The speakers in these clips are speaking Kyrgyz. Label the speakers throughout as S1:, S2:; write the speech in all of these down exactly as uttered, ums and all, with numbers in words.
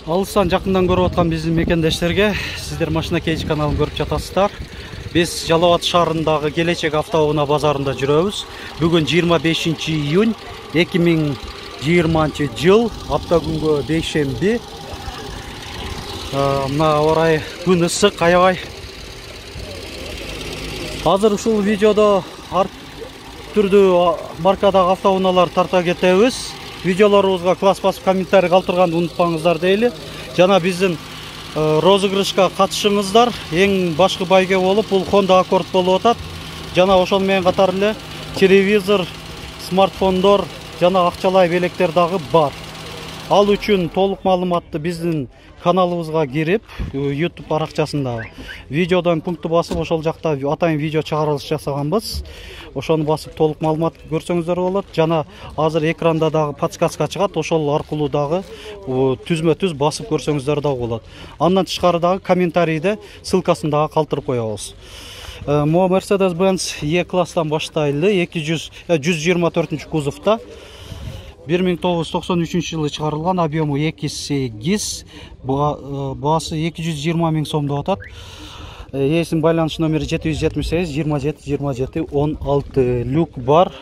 S1: Алыстан жакындан көрүп аткан биздин мекендештерге сиздер машина кейж каналын көрүп жатасыздар. Биз Жалал Абад шаарындагы Келечек автоунаа базарында жүрөбүз. Бүгүн жыйырма бешинчи июнь эки миң жыйырманчы жыл, апта күнгө бейшемби. Мына орай күн ысык, аябай. Азыр ушул видеодо ар түрдүү маркадагы автоунаалар тарта кетебиз. Видеолорубузга класс басып комментарий калтырганды унутпаңыздар дейли. Жана биздин розыгрышка катышыңыздар. Эң башкы байге болуп, бул Honda Accord болуп атат. Жана ошол менен катар эле телевизор, смартфондор жана акчалай белектер дагы бар. Ал үчүн толук маалыматты биздин каналыбызга кирип, YouTube баракчасында видеодон пункту басып, ошол жакта атайын видео чыгарылыш жасаганбыз. Ошону басып толук маалымат көрсөңүздөр болот. Жана азыр экранда дагы подсказка чыгат, ошол аркылуу дагы түзмө-түз басып көрсөңүздөр дагы болот. Андан тышкары дагы комментарийде ссылкасын дагы калтырып коебуз. Мо Mercedes-Benz E-класстан баштайлы, жүз жыйырма төртүнчү кузовда. бир миң тогуз жүз токсон үчүнчү жылы чыгарылган, объему эки сегиз, баасы эки жүз жыйырма миң сом деп атат. Ээсинин байланыш номери жети жүз жетимиш сегиз жыйырма жети жыйырма жети он алты. Люк бар.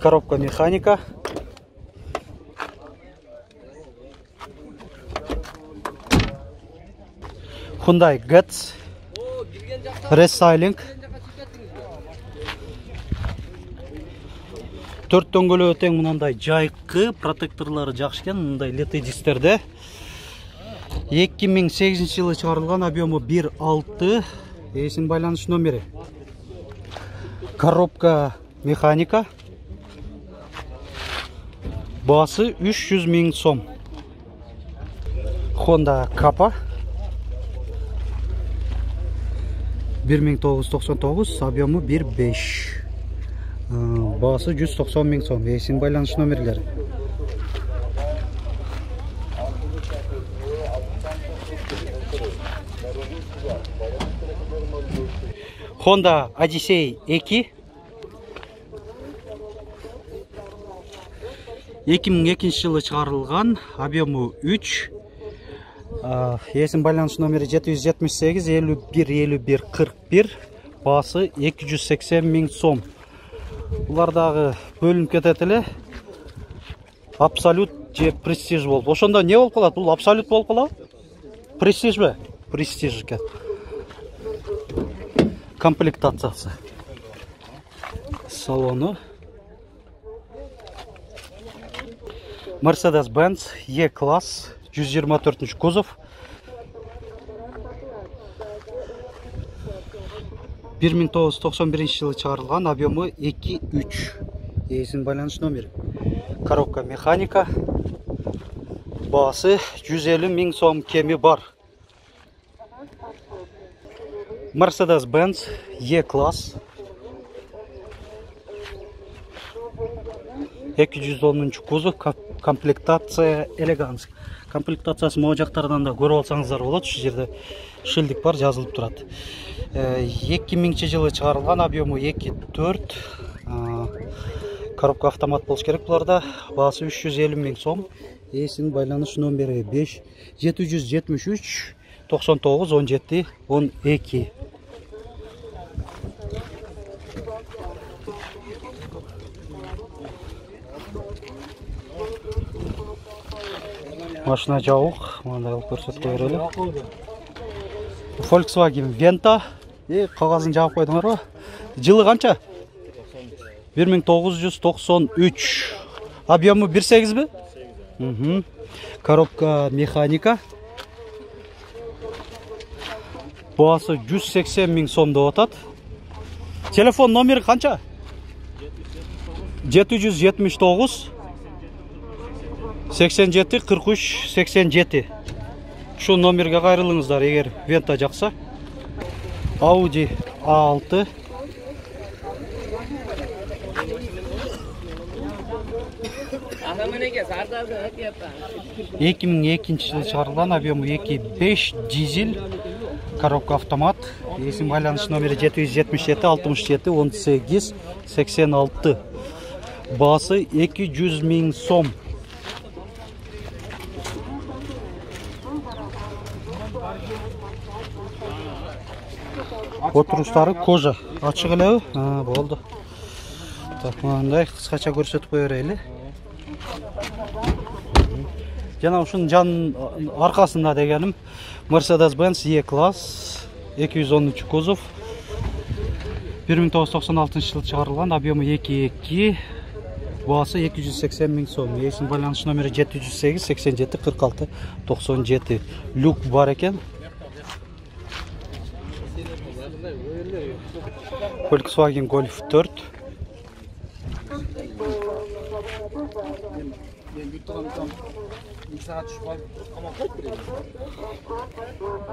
S1: Коробка механика. Hyundai Getz. Restyling. Төрт дөңгөлөө тең мындай жайкы, протекторлору жакшы экен, мындай лети дистерде. эки миң сегизинчи жылы чыгарылган, объему бир алты, ээсинин байланыш номери. Коробка механика. Баасы үч жүз миң сом. Honda Kappa. бир миң тогуз жүз токсон тогуз, объему бир беш. Баасы жүз токсон миң сом. Ээсинин байланыш номерлери. Honda Odyssey эки. эки миң экинчи жылы чыгарылган, объему үч. Ээсинин байланыш номери жети жүз жетимиш сегиз элүү бир элүү бир кырк бир. Баасы эки жүз сексен миң сом. Булар дагы бөлүнүп кетет эле. Абсолют же престиж болуп. Ошондо не болуп калат? Бул абсолют болуп калабы? Престижби? Престиж экен. Комплектациясы. Салону. Mercedes-Benz E-класс, жүз жыйырма төртүнчү кузов. бир миң тогуз жүз токсон биринчи жылы чыгарылган, объему эки үч. Ээсинин байланыш номери. Коробка механика. Баасы жүз элүү миң сом, кеми бар. Mercedes-Benz E-класс. эки жүз онунчу кузов, комплектация элеганс. Комплектациясы могу жактардан да көрүп алсаңыздар болот. Ушул жерде шилдик бар, жазылып турат. эки миңчи жылы чыгарылган, объему эки төрт. Коробка автомат болуш керек буларда. Баасы үч жүз элүү миң сом. Ээсинин байланыш номери беш жети жүз жетимиш үч токсон тогуз он жети он эки. Машина жабык, мындай алып көрсөтүп берели. Volkswagen Venta. Э, кагазын жаап койдуңарбы? Жылы канча? бир миң тогуз жүз токсон үч. Объему бир сегизби? Мхм. Коробка механика. Баасы жүз сексен миң сом деп атат. Телефон номери канча? жети жүз жетимиш тогуз сексен жети кырк үч сексен жети. Шу номерге кайрылыңыздар эгер Venta жакса. Audi А алты. эки миң экинчи жылы чыгарылган, объему эки беш, дизель, коробка автомат. Есім байланыш номері жети жүз жетимиш жети алтымыш жети он сегиз сексен алты. Басы эки жүз миң сом. Отуруштары кожа. Ачык элеби? Ha, болду. Так, мындай кыскача көрсөтүп кое берели. Жана ушунун жан аркасында дегеним Mercedes-Benz E-класс эки жүз онунчу кузов. бир миң тогуз жүз токсон алтынчы жылы чыгарылган, объему эки эки, баасы эки жүз сексен миң сом. Есим байланыш номери жети жүз сегиз сексен жети кырк алты токсон жети. Люк бар экен. Volkswagen Golf төрт.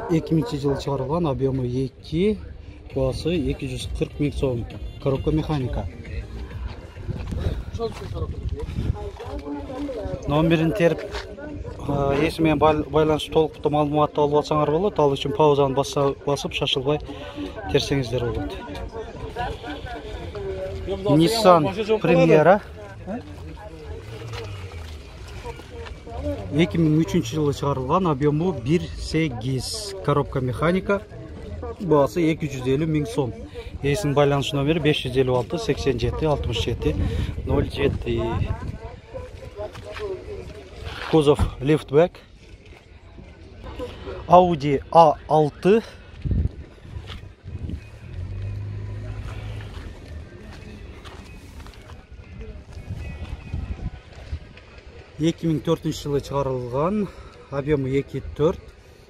S1: эки миңинчи жылы чыгарылган, объему эки, баасы эки жүз кырк миң сом. Коробка механика. Номерин терип, эси менен байланыш толуктуу маалыматты алып алсаңар болот. Ал үчүн паузаны басып, шашылбай терсеңиздер болот. Nissan Primera эки миң үчүнчү жылы чыгарылган, объему бир сегиз, коробка механика, баасы эки жүз элүү миң сом. Эсин байланыш номери беш жүз элүү алты сексен жети алтымыш жети ноль жети. Кузов лифтбэк. Audi а алты. эки миң төртүнчү жылы чыгарылган, объему эки төрт.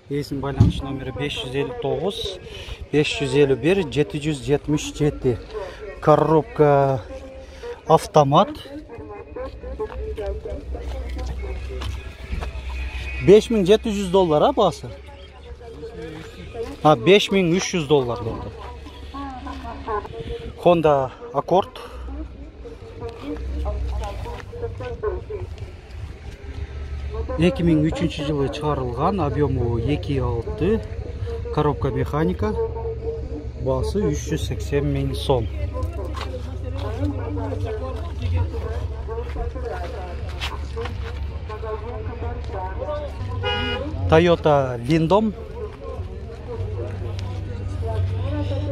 S1: Эсин байланыш номери беш жүз элүү тогуз беш жүз элүү бир жети жүз жетимиш жети. Коробка автомат. беш миң жети жүз доллар, а баасы? А, беш миң үч жүз доллар болду. Honda Accord. эки миң үчүнчү жылы чыгарылган, объему эки алты, коробка механика, баасы үч жүз сексен миң сом. Toyota Windom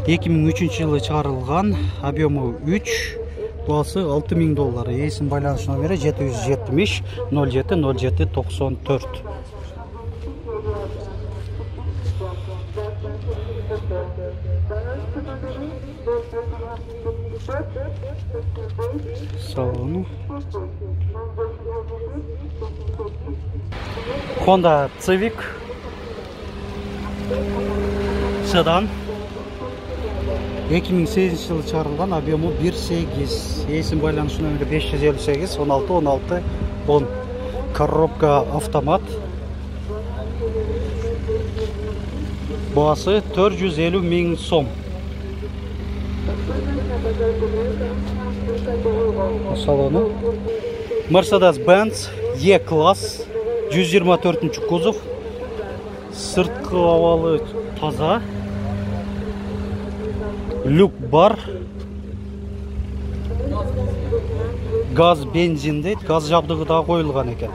S1: эки миң үчүнчү жылы чыгарылган, объему үч, баасы алты миң доллар. Эсин байланыш номери жети жүз жетимиш ноль жети ноль жети токсон төрт. Салону. Honda Civic седан эки миң сегизинчи жылы чыгарылган, объему бир сегиз. Эсин байланыш номери беш жүз элүү сегиз он алты он алты он. Коробка автомат. Баасы төрт жүз элүү миң сом. Салону. Mercedes-Benz E-класс жүз жыйырма төртүнчү кузов. Сырткы абалы таза. Люк бар. Газ, бензин дейт. Газ жабдыгы да коюлган экен.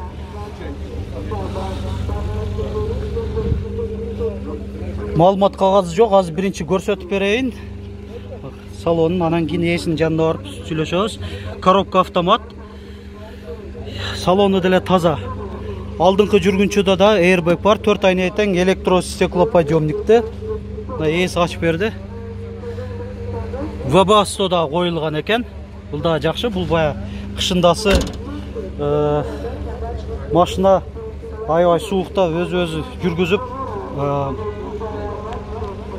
S1: Маалымат кагазы жок, азыр биринчи көрсөтүп берейин. Салонун, анан кийин эсинин жанына барып сүйлөшөбүз. Коробка автомат. Салону деле таза. Алдыңкы жүргүнчүдө да airbag бар, төрт айнай тең электростеклоподъемникте. Эси ачып берди. Вебасто да коюлган экен. Бул да жакшы, бул бая кышындасы машина аябай суукта өзү-өзү жүргүзүп,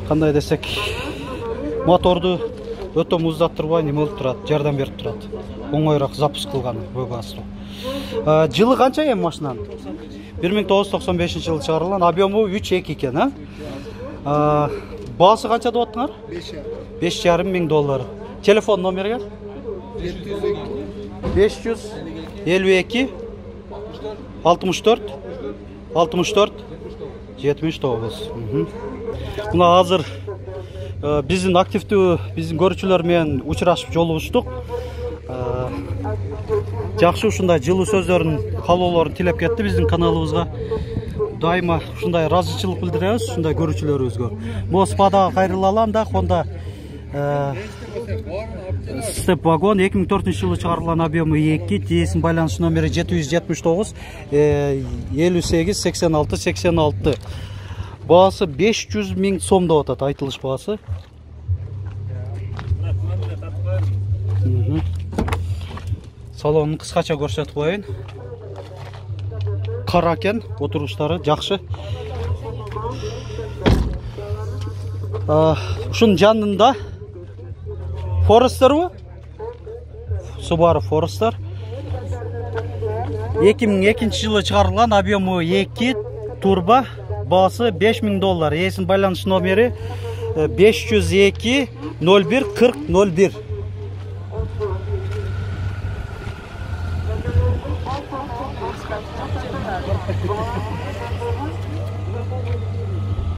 S1: кандай десек, моторду өтө муздаттырбай неме болуп турат, жардам берип турат. Оңойраак запуск кылган вебасто. Жылы канча эми машинанын? бир миң тогуз жүз токсон бешинчи жылы чыгарылган, объему үч эки экен, а? Баасы канча деп аттыңар? беш жарым миң доллар. Телефон номерге? беш жүз элүү эки алтымыш төрт алтымыш төрт жетимиш тогуз. Мына азыр биздин активдүү биздин көрүүчүлөр менен учурашып жолугуштук. Жакшы ушундай жылуу сөздөрүн, каалоолорун тилеп кетти биздин каналыбызга. Дайыма ушундай ыраазычылык билдиребиз ушундай көрүүчүлөрүбүзгө. Могу спадага кайрылалам да, онда Степ вагон эки миң төртүнчү жылы чыгарылган, объему эки, тиесинин байланыш номери жети жүз жетимиш тогуз элүү сегиз сексен алты сексен алты. Баасы беш жүз миң сом деп атат, айтылыш баасы. Салонун кыскача көрсөтүп коеюн. Кара экен, отуруштары жакшы. Ушунун жанында Forester bu? Subaru Forester. эки миң экинчи жылы чыгарылган, объему эки, турбо, баасы беш миң доллар. Эсин байланыш номери беш жүз эки ноль бир кырк ноль бир.